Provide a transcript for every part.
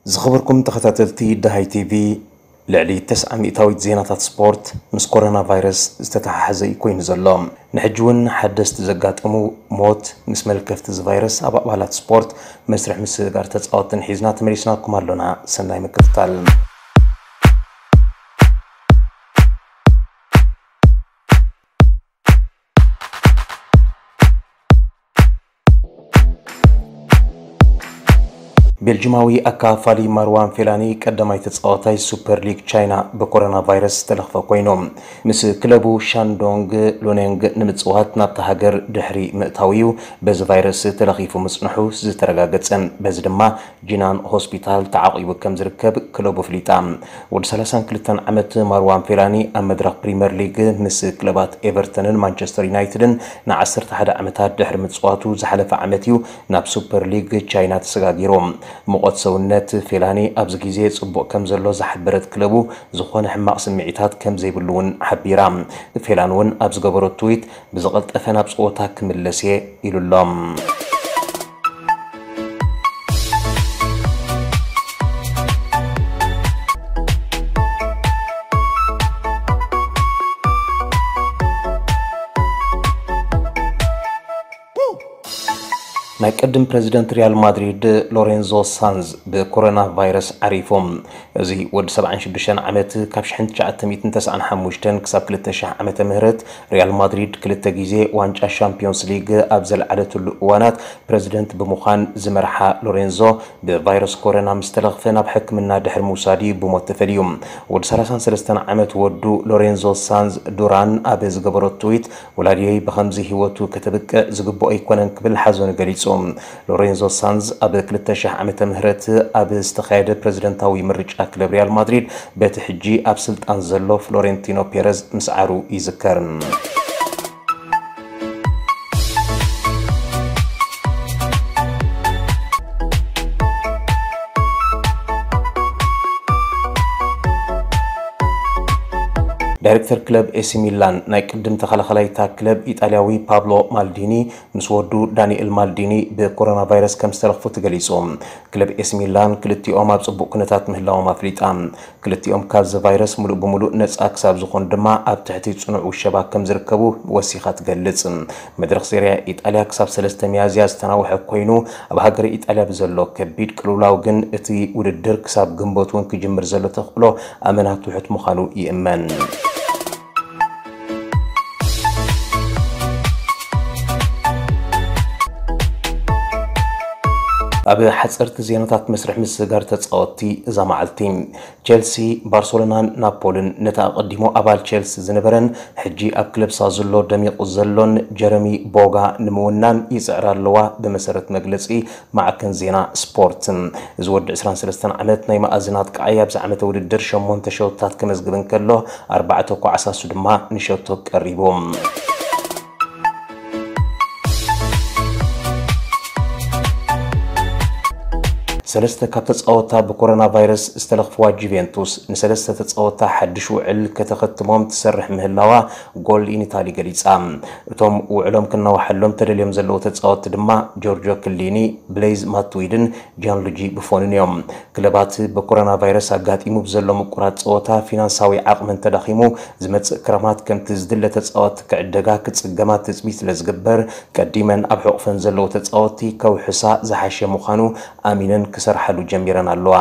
ዝኸበርኩም ተኸታተልቲ ደሃይ ቲቪ፣ ልዕሊ ተስዓ ሚእታዊት ዜናታት ስፖርት ምስ ኮሮና ቫይረስ ዝተተሓሓዘ እዩ ኮይኑ ዘሎ። ንሕጂ እውን ሓደስቲ ዘጋጠሙ ሞት ምስ መልከፍቲ እዚ ቫይረስ ኣብ ኣባላት ስፖርት መስርሕ ምስግጋር ተጻወትን ሒዝና ተመሊስናኩም ኣሎና። ሰናይ ምክትታል። ቤልጂማዊ ኣካፋሊ ማርዋን ፌላኒ ቀዳማይ ተጻዋታይ ሱፐር ሊግ ቻይና ብኮሮና ቫይረስ ዝተለኽፈ ኮይኑ፣ ምስ ክለቡ ሻንዶንግ ሉኔንግ ንምጽዋት ናብታ ሃገር ድሕሪ ምእታው እዩ በዚ ቫይረስ ተለኺፉ ምጽንሑ ዝተረጋገጸ። በዚ ድማ ጂናን ሆስፒታል ተዓቂቡ ከም ዝርከብ ክለቡ ኣፍሊጣ። ወዲ ሰላሳን ክልተን ዓመት ማርዋን ፌላኒ ኣብ መድረኽ ፕሪምየር ሊግ ምስ ክለባት ኤቨርተንን ማንቸስተር ዩናይትድን ንዓሰርተ ሓደ ዓመታት ድሕሪ ምጽዋቱ ዝሓለፈ ዓመት እዩ ናብ ሱፐር ሊግ ቻይና ተሰጋጊሩ። ሙቐት ሰውነት ፌላኒ ኣብዚ ግዜ ጽቡቕ ከም ዘሎ ዝሓበረት ክለቡ፣ ዝኾነ ሕማቕ ስምዒታት ከም ዘይብሉ እውን ሓቢራ። ፌላኒ እውን ኣብ ዝገበሮ ትዊት፣ "ብዝቐልጠፈ ናብ ጸወታ ክምለስ እየ" ኢሉ ኣሎ። ናይ ቅድም ፕረዚደንት ሪያል ማድሪድ ሎሬንዞ ሳንዝ ብኮሮና ቫይረስ ዓሪፎም። እዚ ወዲ ሰብዓን ሽዱሽተን ዓመት ካብ ሽሕን ትሽዓተ ሚእትን ተስዓን ሓሙሽተን ክሳብ ክልተ ሽሕ ዓመተ ምህረት ሪያል ማድሪድ ክልተ ግዜ ዋንጫ ሻምፒዮንስ ሊግ ኣብ ዘልዓለትሉ እዋናት ፕረዚደንት ብምዃን ዝመርሓ ሎሬንዞ ብቫይረስ ኮሮና ምስ ተለኽፈ ናብ ሕክምና ድሕሪ ምውሳድ እዩ ብሞት ተፈልዩ። ወዲ ሰላሳን ሰለስተን ዓመት ወዱ ሎሬንዞ ሳንዝ ዱራን ኣብ ዝገበሮ ትዊት፣ "ወላዲየይ ብኸምዚ ህይወቱ ከተብቅዕ ዝግብኦ ኣይኮነን" ክብል ሓዘኑ ገሊጹ። ሎሬንዞ ሳንዝ ኣብ ክልተ ሽሕ ዓመተ ምህረት ኣብ ዝተኻየደ ፕረዚደንታዊ ምርጫ ክለብ ሪያል ማድሪድ በቲ ሕጂ ኣብ ስልጣን ዘሎ ፍሎሬንቲኖ ፔረዝ ምስዓሩ ይዝከር። ዳይሬክተር ክለብ ኤሲ ሚላን ናይ ቅድም ተኸላኸላይታ ክለብ ኢጣልያዊ ፓብሎ ማልዲኒ ምስ ወዱ ዳንኤል ማልዲኒ ብኮሮና ቫይረስ ከም ዝተለኽፉ ተገሊጹ። ክለብ ኤሲ ሚላን ክልቲኦም ኣብ ጽቡቕ ኩነታት ምህላዎም ኣፍሊጣ። ክልቲኦም ካብዚ ቫይረስ ምሉእ ብምሉእ ነጻ ክሳብ ዝኾኑ ድማ ኣብ ትሕቲ ጽኑዕ ውሸባ ከም ዝርከቡ ወሲኻ ትገልጽ። መድረኽ ሴሪያ ኢጣልያ ክሳብ ሰለስተ ሚያዝያ ዝተናውሐ ኮይኑ፣ ኣብ ሃገረ ኢጣልያ ብዘሎ ከቢድ ቅልውላው ግን እቲ ውድድር ክሳብ ግንቦት እውን ክጅምር ዘሎ ተኽእሎ ኣመና ትሑት ምዃኑ ይእመን። ኣብ ሓጸርቲ ዜናታት መስርሕ ምስግጋር ተጻወትቲ እዛ መዓልቲ። ቸልሲ፣ ባርሰሎናን ናፖልን ነቲ ኣቐዲሙ ኣባል ቸልሲ ዝነበረን ሕጂ ኣብ ክለብ ሳዙሎ ደሚቑ ዘሎን ጀረሚ ቦጋ ንምውናን ይጽዕራ ኣለዋ፣ ብመሰረት መግለጺ ማዕከን ዜና ስፖርት። እዚ ወዲ ዕስራን ሰለስተን ዓመት ናይ መኣዝን ኣጥቃዓይ ኣብዚ ዓመተ ውድድር ሸሞንተ ሸውታት ከመዝግብ እንከሎ፣ ኣርባዕተ ኳዕሳሱ ድማ ንሸቶ ቀሪቡ። ሰለስተ ካብ ተጻወታ ብኮሮና ቫይረስ ዝተለኽፍዋ ጁቬንቱስ፣ ንሰለስተ ተጻወታ ሓድሽ ውዕል ከተኸትሞም ትሰርሕ ምህላዋ ጎል ኢን ኢታሊ ገሊጻ። እቶም ውዕሎም ክናዋሓሎም ተደልዮም ዘለዉ ተጻወትቲ ድማ ጆርጆ ክሊኒ፣ ብሌዝ ማትዊድን ጂያንሉጂ ቡፎንን እዮም። ክለባት ብኮሮና ቫይረስ ኣጋጢሙ ብዘሎ ምቁራጽ ጸወታ ፊናንሳዊ ዓቕመን ተዳኺሙ ዝመጽእ ክረማት ከምቲ ዝድለ ተጻወትቲ ክዕደጋ ክጽገማ ትጽቢት ስለ ዝግበር፣ ቀዲመን ኣብ ሕቑፈን ዘለዉ ተጻወትቲ ከውሕሳ ዝሓሸ ምዃኑ ኣሚነን ክሰርሓሉ ጀሚረን ኣለዋ።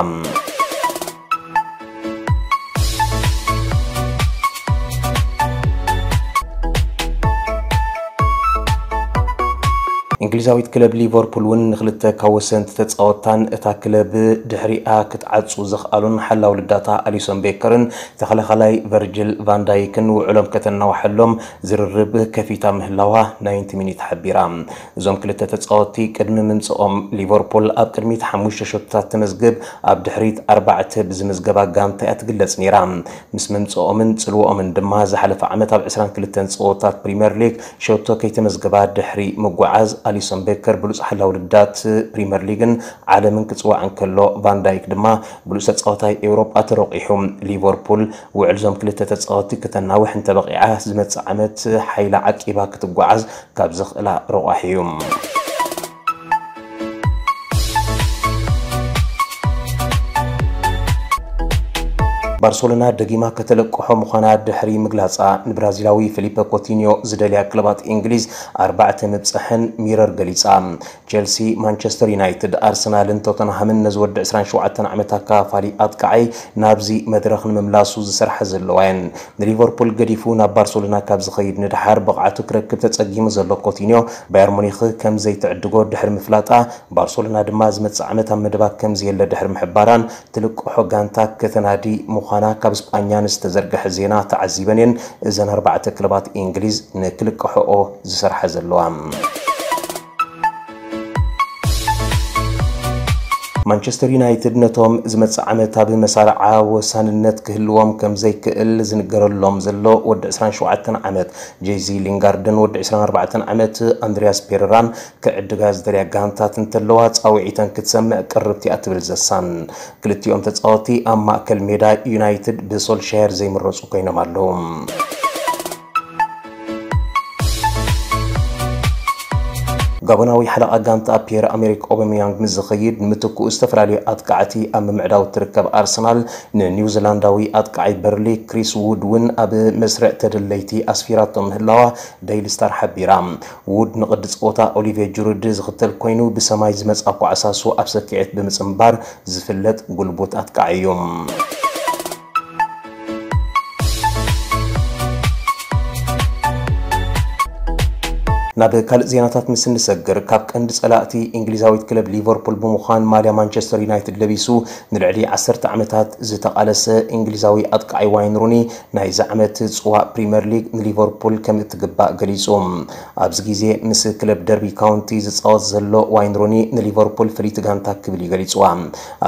እንግሊዛዊት ክለብ ሊቨርፑል እውን ንክልተ ካብ ወሰንቲ ተጻወትታን እታ ክለብ ድሕሪኣ ክትዓጹ ዘኽኣሉን ሓላው ልዳታ ኣሊሶን ቤከርን ተኸላኻላይ ቨርጅል ቫንዳይክን ውዕሎም ከተናዋሐሎም ዝርርብ ከፊታ ምህላዋ ናይንቲ ሚኒት ሓቢራ። እዞም ክልተ ተጻወትቲ ቅድሚ ምምጽኦም ሊቨርፑል ኣብ ቅድሚት ሓሙሽተ ሸቶታት ተመዝግብ፣ ኣብ ድሕሪት ኣርባዕተ ብዝምዝገባ ጋንታ እያ ትግለጽ ነይራ። ምስ ምምጽኦምን ጽልዎኦምን ድማ ዝሓለፈ ዓመት ኣብ ዕስራን ክልተን ጸወታት ፕሪምየር ሊግ ሸቶ ከይተመዝገባ ድሕሪ ምጉዓዝ፣ ኣሊሶን ቤከር ብሉጽ ሓላው ልዳት ፕሪምየር ሊግን ዓለምን ክጽዋዕ እንከሎ፣ ቫን ዳይክ ድማ ብሉጽ ተጻዋታይ ኤውሮጳ ተረቂሑ። ሊቨርፑል ውዕል እዞም ክልተ ተጻወትቲ ከተናውሕ እንተበቒዓ፣ ዝመጽእ ዓመት ሓይላ ዓቂባ ክትጓዓዝ ካብ ዘኽእላ ረቋሒ እዩ። ባርሰሎና ደጊማ ከተለቅሖ ምዃና ድሕሪ ምግላጻ፣ ንብራዚላዊ ፊሊፐ ኮቲኒዮ ዝደልያ ክለባት እንግሊዝ ኣርባዕተ ምብጻሐን ሚረር ገሊጻ። ቸልሲ፣ ማንቸስተር ዩናይትድ፣ ኣርሰናልን ቶተንሃምን ነዚ ወዲ ዕስራን ሸውዓተን ዓመት ኣካፋሊ ኣጥቃዓይ ናብዚ መድረኽ ንምምላሱ ዝሰርሓ ዘለዋ እየን። ንሊቨርፑል ገዲፉ ናብ ባርሰሎና ካብ ዝኸይድ ንድሓር ብቕዓቱ ክረክብ ተጸጊሙ ዘሎ ኮቲኒዮ፣ ባየር ሙኒኽ ከም ዘይትዕድጎ ድሕሪ ምፍላጣ፣ ባርሰሎና ድማ ዝመጽእ ዓመት ኣብ መደባ ከም ዘየለ ድሕሪ ምሕባራን፣ ትልቅሖ ጋንታ ከተናዲ ምዃና ካብ ስጳኛ ንዝተዘርግሐ ዜና ተዓዚበን እየን እዘን ኣርባዕተ ክለባት እንግሊዝ ንክልቅሖኦ ዝሰርሓ ዘለዋ። ማንቸስተር ዩናይትድ ነቶም ዝመጽእ ዓመት ኣብ መሳርዓ ወሳንነት ክህልዎም ከም ዘይክእል ዝንገረሎም ዘሎ ወዲ ዕስራን ሸውዓተን ዓመት ጄዚ ሊንጋርድን ወዲ ዕስራን ኣርባዕተን ዓመት ኣንድሪያስ ፔሬራን ክዕድጋ ዝደልያ ጋንታት እንተለዋ ጻውዒተን ክትሰምዕ ቅርብቲ እያ ትብል ዘሳን። ክልቲኦም ተጻወቲ ኣብ ማእከል ሜዳ ዩናይትድ ብሶልሻየር ዘይምረጹ ኮይኖም ኣለዉ። ጋቦናዊ ሓለቓ ጋንታ ፒየር ኣሜሪክ ኦበሚያንግ ምስ ዝኸይድ፣ ንምትክኡ ዝተፈላለዩ ኣጥቃዕቲ ኣብ ምምዕዳው ትርከብ ኣርሰናል፣ ንኒውዚላንዳዊ ኣጥቃዓይ በርሊ ክሪስ ውድ እውን ኣብ መስርዕ ተደለይቲ ኣስፊራቶ ምህላዋ ደይሊ ስታር ሓቢራ። ውድ ንቕዲ ጸወታ ኦሊቬ ጁሩድ ዝኽተል ኮይኑ፣ ብሰማይ ዝመጽኣ ኳዕሳሱ ኣብ ሰኪዔት ብምጽንባር ዝፍለጥ ጉልቡት ኣጥቃዓይ እዩ። ናብ ካልእ ዜናታት ምስ እንሰግር፣ ካብ ቀንዲ ጸላእቲ እንግሊዛዊት ክለብ ሊቨርፑል ብምዃን ማልያ ማንቸስተር ዩናይትድ ለቢሱ ንልዕሊ ዓሰርተ ዓመታት ዝተቓለሰ እንግሊዛዊ ኣጥቃዓይ ዋይን ሩኒ፣ ናይዚ ዓመት ጽዋእ ፕሪምየር ሊግ ንሊቨርፑል ከም እትግባእ ገሊጹ። ኣብዚ ግዜ ምስ ክለብ ደርቢ ካውንቲ ዝጻወት ዘሎ ዋይን ሩኒ ንሊቨርፑል ፍልይቲ ጋንታ ክብል እዩ ገሊጽዋ።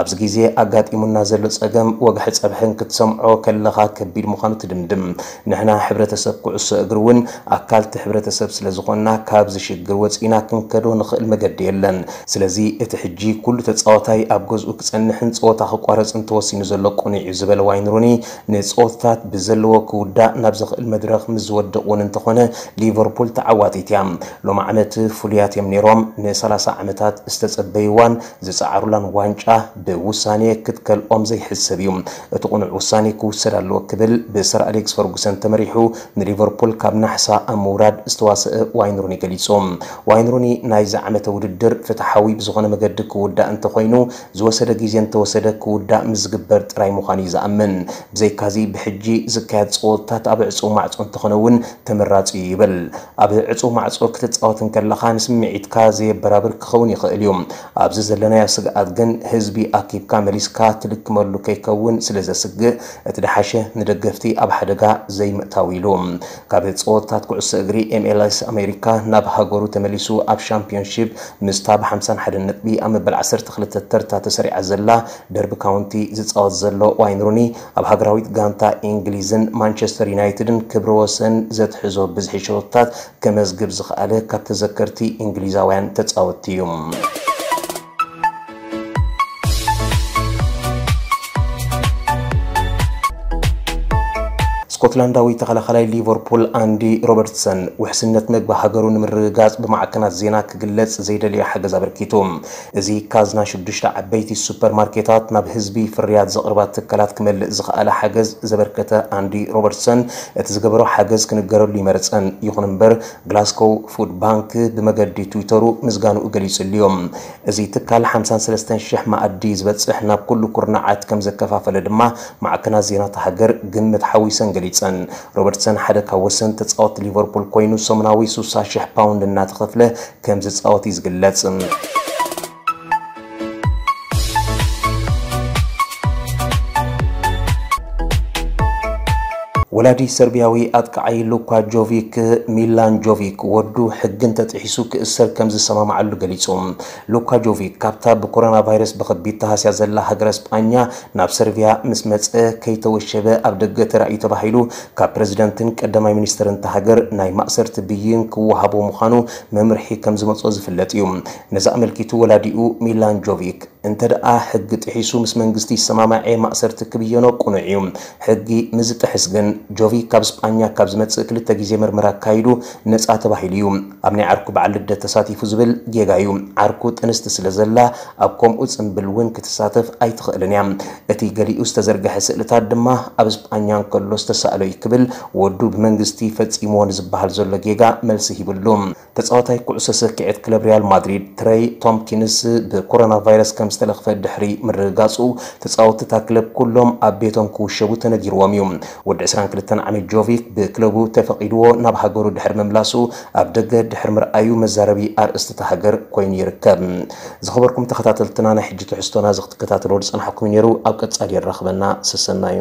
ኣብዚ ግዜ ኣጋጢሙና ዘሎ ጸገም ወግሐ ጸብሕን ክትሰምዖ ከለኻ ከቢድ ምዃኑ ትድምድም። ንሕና ሕብረተሰብ ኩዕሶ እግሪ እውን ኣካል እቲ ሕብረተሰብ ስለ ዝኾንና ካብዚ ሽግር ወጺእና ክንከዶ ንኽእል መገዲ የለን። ስለዚ እቲ ሕጂ ኩሉ ተጻዋታይ ኣብ ገዝኡ ክጸንሕን ጸወታ ክቋረጽን ተወሲኑ ዘሎ ቅኑዕ እዩ ዝበለ ዋይን ሩኒ ንጸወታታት ብዘለዎ ክውዳእ ናብ ዘኽእል መድረኽ ምስ ዝወድቕ እውን እንተኾነ ሊቨርፑል ተዓዋቲት እያ። ሎሚ ዓመት ፍሉያት እዮም ነይሮም። ን30 ዓመታት ዝተጸበይዋን ዝጸዓሩላን ዋንጫ ብውሳኔ ክትከልኦም ዘይሕሰብ እዩ። እቲ ቅኑዕ ውሳኔ ክውሰድ ኣለዎ ክብል ብሰር ኣሌክስ ፈርጉሰን ተመሪሑ ንሊቨርፑል ካብ ናሕሳ ኣብ ምውራድ ዝተዋሰአ ዋይን ሩኒ ገሊጹ። ዋይን ሩኒ ናይዚ ዓመተ ውድድር ፍትሓዊ ብዝኾነ መገዲ ክውዳእ እንተኾይኑ ዝወሰደ ግዜ እንተወሰደ ክውዳእ ምስ ዝግበር ጥራይ ምዃኑ እዩ ዝኣምን። ብዘይካዚ ብሕጂ ዝካየድ ጸወታት ኣብ ዕጹው ማዕጾ እንተኾነ እውን ተመራጺ እዩ ይብል። ኣብ ዕጹው ማዕጾ ክትጻወት እንከለኻ ንስምዒትካ ዘየበራብር ክኸውን ይኽእል እዩ። ኣብዚ ዘለናዮ ስግኣት ግን ህዝቢ ኣኪብካ መሊስካ ትልክመሉ ከይከውን ስለ ዘስግእ እቲ ደሓሸ ንደገፍቲ ኣብ ሓደጋ ዘይምእታው ኢሉ። ካብ ጸወታት ኩዕሶ እግሪ ኤምኤልኤስ ኣሜሪካ ናብ ሃገሩ ተመሊሱ ኣብ ሻምፒዮንሺፕ ምስታ ብ51 ነጥቢ ኣብ መበል ዓሰርተ ክልተ ተርታ ተሰሪዓ ዘላ ደርቢ ካውንቲ ዝጻወት ዘሎ ዋይን ሩኒ ኣብ ሃገራዊት ጋንታ እንግሊዝን ማንቸስተር ዩናይትድን ክብረ ወሰን ዘትሕዞ ብዝሒ ሸቶታት ከመዝግብ ዝኸኣለ ካብ ተዘከርቲ እንግሊዛውያን ተጻወትቲ እዩ። ስኮትላንዳዊ ተኸላኻላይ ሊቨርፑል ኣንዲ ሮበርትሰን ውሕስነት መግቢ ሃገሩ ንምርግጋጽ ብማዕከናት ዜና ክግለጽ ዘይደለዮ ሓገዝ ኣበርኪቱ። እዚ ካዝና ሽዱሽተ ዓበይቲ ሱፐርማርኬታት ናብ ህዝቢ ፍርያት ዘቕርባ ትካላት ክመልእ ዝኸኣለ ሓገዝ ዘበርከተ ኣንዲ ሮበርትሰን፣ እቲ ዝገበሮ ሓገዝ ክንገረሉ ይመርጸን። ይኹን እምበር፣ ግላስኮው ፉድ ባንክ ብመገዲ ትዊተሩ ምስጋንኡ ገሊጹሉ እዩ። እዚ ትካል ሓምሳን ሰለስተን ሽሕ መኣዲ ዝበጽሕ ናብ ኩሉ ኩርናዓት ከም ዘከፋፈለ ድማ ማዕከናት ዜና እታ ሃገር ግምት ሓዊሰን ገሊጸን። ሮበርትሰን ሓደ ካብ ወሰንቲ ተጻወትቲ ሊቨርፑል ኮይኑ፣ ሰሙናዊ ስሳ ሽሕ ፓውንድ እናተኸፍለ ከም ዝጻወት እዩ ዝግለጽ። ወላዲ ሰርቢያዊ ኣጥቃዓይ ሉካ ጆቪክ፣ ሚላን ጆቪክ፣ ወዱ ሕጊ እንተጥሒሱ ክእሰር ከም ዝሰማማዓሉ ገሊጹ። ሉካ ጆቪክ ካብታ ብኮሮና ቫይረስ ብኸቢድ ተሃስያ ዘላ ሃገረ ስጳኛ ናብ ሰርቢያ ምስ መጸ ከይተወሸበ ኣብ ደገ ተራእዩ ተባሂሉ ካብ ፕረዚደንትን ቀዳማይ ሚኒስትርን እታ ሃገር ናይ ማእሰርቲ ብይን ክወሃቦ ምዃኑ መምርሒ ከም ዝመጾ ዝፍለጥ እዩ። ነዚ ኣመልኪቱ ወላዲኡ ሚላን ጆቪክ እንተ ደኣ ሕጊ ጥሒሱ ምስ መንግስቲ ይሰማማዕ እየ፣ ማእሰርቲ ክብየኖ ቅኑዕ እዩ። ሕጊ ምስ ዝጥሕስ ግን፣ ጆቪክ ካብ ስጳኛ ካብ ዝመጽእ ክልተ ግዜ ምርመራ ኣካይዱ ነጻ ተባሂሉ እዩ። ኣብ ናይ ዓርኩ በዓል ልደት ተሳቲፉ ዝብል ጌጋ እዩ። ዓርኩ ጥንስቲ ስለ ዘላ፣ ኣብ ከምኡ ጽምብል እውን ክትሳተፍ ኣይትኽእልን እያ። እቲ ገሊኡ ዝተዘርግሐ ስእልታት ድማ ኣብ ስጳኛ እንከሎ ዝተሳእሎ እዩ ክብል ወዱ ብመንግስቲ ፈጺምዎ ንዝበሃል ዘሎ ጌጋ መልሲ ሂብሉ። ተጻዋታይ ኩዕሶ ሰኪዐት ክለብ ሪያል ማድሪድ ትረይ ቶምኪንስ ብኮሮና ቫይረስ ከም ዝተለኽፈ ድሕሪ ምርግጋጹ፣ ተጻወትቲ እታ ክለብ ኩሎም ኣብ ቤቶም ክውሸቡ ተነጊርዎም እዩ። ወዲ ዕስራን ክልተን ዓመት ጆቪክ ብክለቡ ተፈቒድዎ ናብ ሃገሩ ድሕሪ ምምላሱ፣ ኣብ ደገ ድሕሪ ምርኣዩ መዛረቢ ኣርእስቲ እታ ሃገር ኮይኑ ይርከብ። ዝኸበርኩም ተኸታተልትና፣ ናይ ሕጂ ትሕዝቶና እዚ ክትከታተልዎ ዝጸናሕኩም እዩ ነይሩ። ኣብ ቀጻሊ የራኽበና። ሰሰናዩ።